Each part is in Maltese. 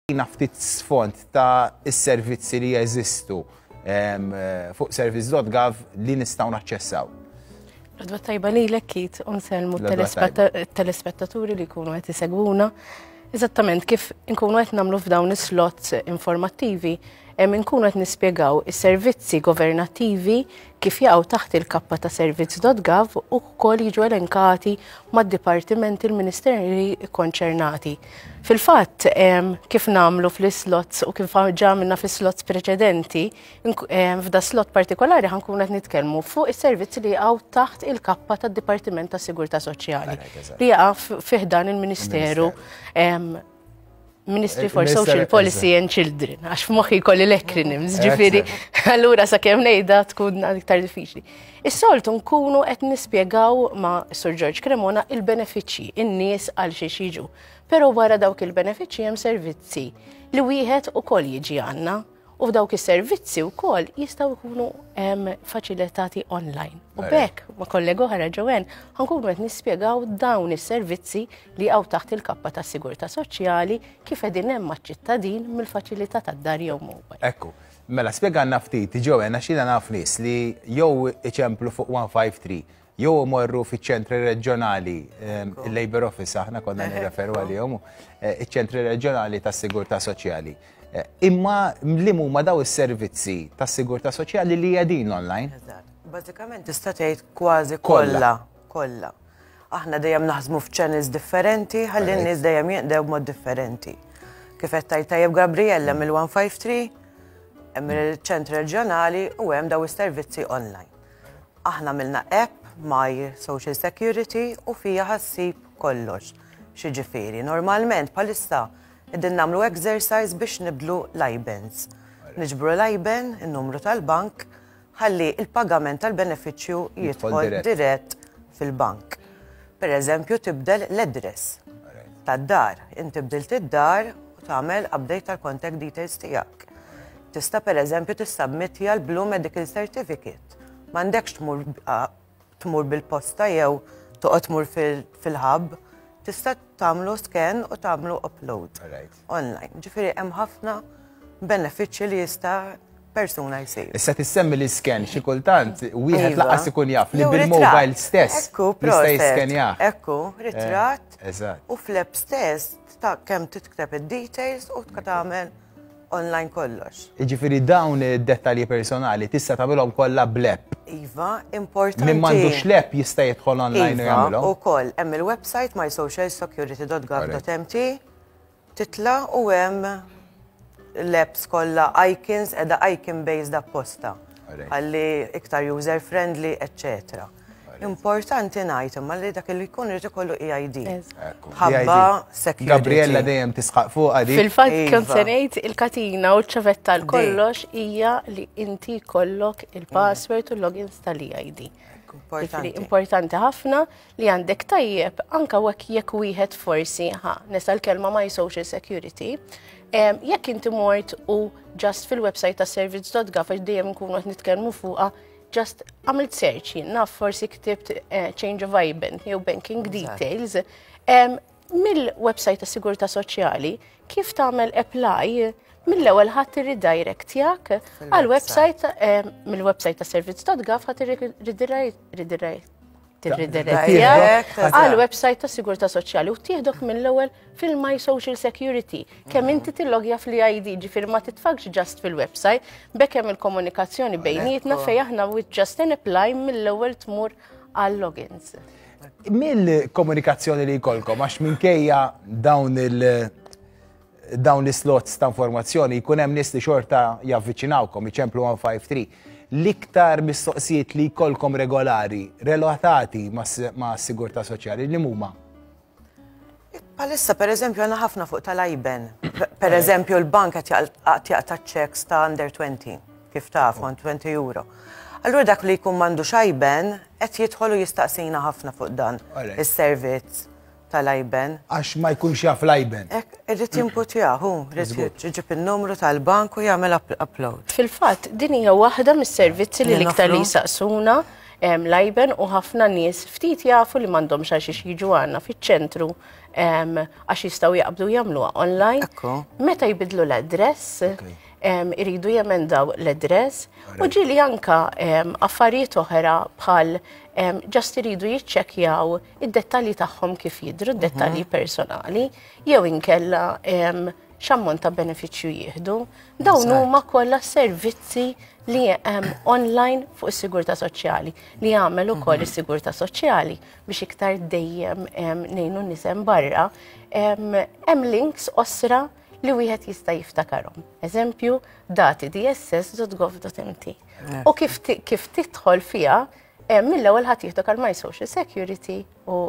Tina ftit sfond ta' is-servizzi li jeżistu fuq service.gov li nistgħu naċċessaw. L-għodwa t-tajba lilek Keith u nsellmu t-telespettaturi li jkunu qed isegwuna. Eżattament kif inkunu qed nagħmlu f'dawn is-slots informattivi, inkunu qed nispjegaw is-servizzi governattivi kif jaqgħu taħt il-kappa ta' servizz.gov u wkoll jiġu elenkati mad-dipartimenti l-ministeri konċernati. Fil-fatt, kif nagħmlu fl-islots u kif ġa għamilna fl-islots preċedenti, f'da slot partikolari ħankun qed nitkellmu fuq is-servizzi li jaqgħu taħt il-kappa tad-Dipartiment tas Sigurtà Soċjali li jaqa' fih dan il-Ministeru Ministry for Social Policy and Children, għax f'moħħi jkolli l-acronyms, ġifieri, allura sakemm ngħidha tkun iktar diffiċli. Is-soltu nkunu qed nispjegaw ma' Sir George Cremona il-benefiċċji, in-nies għal xiex jiġu. Però wara dawk il-benefiċċji hemm servizzi li wieħed ukoll jiġi għandna u f'dawk is-servizzi wkoll jistgħu jkunu faċilitati online. U b'hekk ma' kollega oħra Joanne ħankunu qed nispjegaw dawn is-servizzi li hawn taħt il-kappa tas-sigurtà soċjali kif qegħdin hemm maċ-ċittadin mill-faċilità tad-dar jew mobile. Ekku. Mela spjegalna ftit Joanne għax jiena naf nies li jew iċemplu fuq 153 jew imorru fiċ-ċentri reġjonali, il-Labour Office aħna konna nirreferu għalihom, eh, iċ-ċentri reġjonali tas-sigurtà soċjali. Eh, imma li huma daw is-servizzi tas-sigurtà soċjali li qegħdin online? Eżatt. Bażikament tista' tgħid kważi kollha, kollha. Aħna dejjem naħdmu f'channels differenti, ħalli n-nies dejjem jinqdew b'mod differenti. Kif qed tgħid tajjeb Gabriella mill-153, hemm il-ċentri reġjonali u hemm daw is-servizzi online. Aħna għamilna app My Social Security u fija ħassib kollox. Xiġifieri, normalment bħalissa qegħdin nagħmlu exercise biex nibdlu l-IBANs. Niġbru l-IBAN, in-numru tal-bank, ħalli il-pagament tal-benefiċċju jidħol dirett fil-bank. Per eżempju, tibdel l-address tad-dar. Inti bdilt id-dar u tagħmel update tal-contact details tiegħek. Tista' per eżempju tissubmittja l-Blue Medical Certificate. M'għandekx tmur tmur bil-posta jew toqgħod tmur fil-hub. Tista' tagħmlu scan u tagħmlu upload online. Ġifieri hemm ħafna benefiċċji li jista' persuna jsir. Issa tissemmi li scan xi kultant wieħed iva. laqas ikun jaf li bil-mobile stess jista' jiskenjah. Ekku, ritratt. Eh, u fl-app stess ta' kemm titktab id-details u tagħmel online kollox. Jiġifieri dawn id-dettalji personali tista' tagħmilhom kollha bl-app. Iva, importanti. Min m'għandux l-app jista' jidħol online u iva, jagħmilhom. Ukoll hemm il-website mysocialsecurity.gov.mt titla' u hemm l-apps kollha icons qiegħda icon based apposta. Ħalli iktar user friendly, eccetera. Importanti ngħid imma li dak li jkun irid ikollu EID. Ħabba security. Gabriella dejjem tisħaq fuqha di. Fil-fatt kont se ngħid il-katina u ċ-ċavetta l kollox hija li inti jkollok il-password u l-logins tal-EID. Importanti. Importanti ħafna li għandek tajjeb anka wek jekk wieħed forsi ħa nesa l-kelma my social security. Jekk inti mort u just fil-website ta' service.gov għax dejjem nkunu qed nitkellmu fuqha just għamilt search jien naf forsi ktibt eh, change of IBAN jew banking details. Mill-website ta' Sigurtà Soċjali kif tagħmel apply mill-ewwel ħadd irridirect jak għal website mill-website ta' servizz.gov ħadd irridirect għal website ta' Sigurtà Soċjali u tieħdok mill-ewwel fil-My Social Security. Kemm inti tillogja fl-ID, ġifieri ma titfakx just fil-website, bekk hemm il-komunikazzjoni bejnietna fejn aħna with just an apply mill-ewwel tmur għal logins. Mill-komunikazzjoni li jkollkom, għax minkejja dawn il- dawn l-slots ta' informazzjoni jkun hemm nies li xorta javviċinawkom, iċemplu 153. L-iktar mistoqsijiet li jkollkom regolari relatati ma' sigurtà soċjali li huma? Palissa, per eżempju, għanna ħafna fuq tal-IBAN. Per eżempju, l-bank qed jaqta' checks ta' under 20, kif taf, 20 euro. Allura dak li jkun m'għandux IBAN qed jidħol u jistaqsina ħafna fuq dan is-servizz tal-IBAN. Għax ma jkunx jaf l-IBAN. Ek, irrid jimputjah, hu, irrid iġib in-numru tal-bank u jagħmel upload. Fil-fatt, din hija waħda mis-servizzi li l-iktar li jsaqsuna l-IBAN u ħafna nies ftit jafu li m'għandhomx għal xiex jiġu għandna fiċ-ċentru. Għax jistgħu jaqbdu jagħmluha online. Meta jbidlu l-address, iridu jemendaw l-address u ġieli anka affarijiet oħra bħal just iridu jiċċekkjaw id-dettalji tagħhom kif jidhru, d-dettalji mhm. personali, jew inkella x'ammont ta' benefiċċju jieħdu. Dawn huma kollha servizzi li hemm online fuq is-sigurtà soċjali li jagħmel ukoll mhm. is-sigurtà soċjali biex iktar dejjem ngħinu nies hemm barra. Hemm links osra li wieħed jista' jiftakarhom. Eżempju, dati dss.gov.mt. U kif, kif tidħol fiha, mill-ewwel ħadd jieħdok għal My Social Security u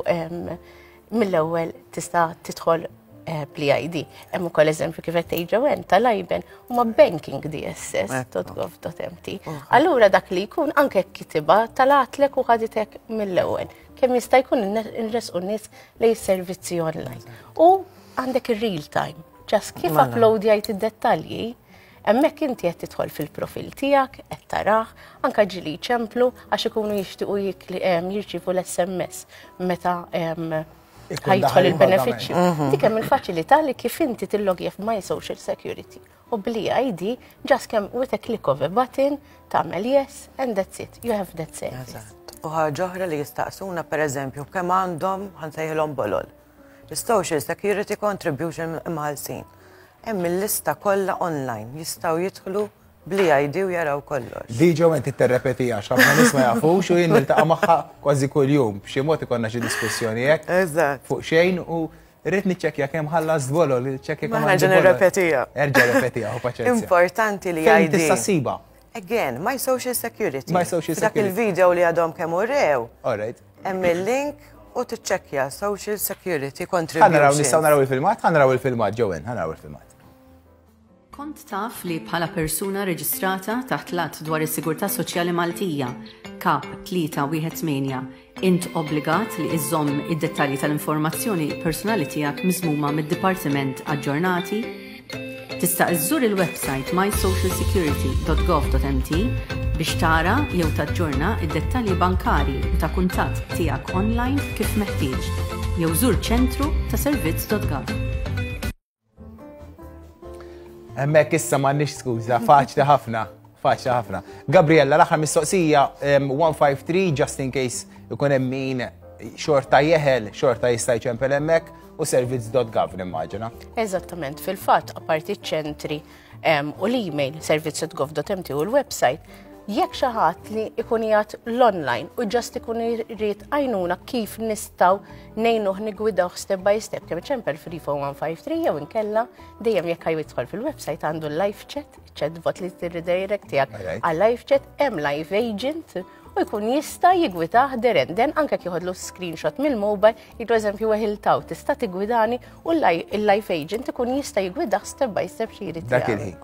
mill-ewwel tista' tidħol eh, bl-ID. Hemm ukoll eżempju kif qed tgħid Joanne tal-IBAN huma banking dss.gov.mt. Allura dak li jkun anke kitiba tal-għatlek u ħaditek mill-ewwel. Kemm jista' jkun inresqu nies lejn servizzi online. U għandek ir-real time. Just kif mela. uploadjajt id-dettalji, hemmhekk inti qed tidħol fil-profil tiegħek, qed tarah, anka ġieli ċemplu għax ikunu jixtiequ jirċievu l-SMS meta ħa jidħol il-benefiċċju. Mhm. Dik hemm il-faċilità li kif inti tillogja f'My Social Security u bl-ID just kemm with a click of a button tagħmel yes and that's it. You have that service. U ħaġa oħra li jistaqsuna pereżempju kemm għandhom ħa nsejħilhom bolol. Social Security Contribution imħallsin. Hemm il-lista kollha online jistgħu jidħlu bl-ID u jaraw kollox. Di ġew inti terrepeti għax ħafna nies ma jafux u jien niltaqa' magħha kważi kuljum. B'xi mod ikollna xi diskussjoni hekk. Eżatt. Fuq xejn u rrid niċċekkja kemm ħallas bolol, niċċekkja kemm. Nerġa' nirrepetija. Erġa' repetija, u paċenzja. Importanti li ID. Tista' ssiba. Again, my social security. My social security. Dak il-video li għadhom kemm urew. All right. Hemm il-link u tiċċekkja social security contribution. Ħa naraw nistgħu naraw il-filmat, ħa naraw il-filmat, Joanne, ħa naraw il-filmat. Kont taf li bħala persuna reġistrata taħt l-Att dwar is-Sigurtà Soċjali Maltija, Kap 318, int obbligat li iżżomm id-dettalji tal-informazzjoni personali tiegħek miżmuma mid-Dipartiment aġġornati? Tista' iżżur il-websajt mysocialsecurity.gov.mt biex tara jew taġġorna id-dettalji bankarji u ta' kuntatt tiegħek online kif meħtieġ, jew żur ċentru ta' servizz.gov. Hemmhekk issa m'għandniex skuża, faċli ħafna, faċli ħafna. Gabriella, l-aħħar mistoqsija 153 just in case ikun hemm min xorta jeħel, xorta jista' jċempel hemmhekk u servizz.gov nimmaġina. Eżattament, fil-fatt, apparti ċentri u l-email servizz.gov.mt u l-website, jekk xi ħadd li ikun qiegħed l-online u just ikun irid għajnuna kif nistgħu ngħinuh nigwidawh step by step kemm iċempel 34153 jew inkella dejjem jekk jidħol fil-website għandu l-live chat, chatbot li tirredirect tiegħek għal live chat hemm live agent u jkun jista' jigwitah derenden anke jieħodlu screenshot mill-mobile, jgħidu eżempju weħiltaw, tista' tigwidani u l-live agent ikun jista' jigwidah step by step xi jrid. Dak il-ħin.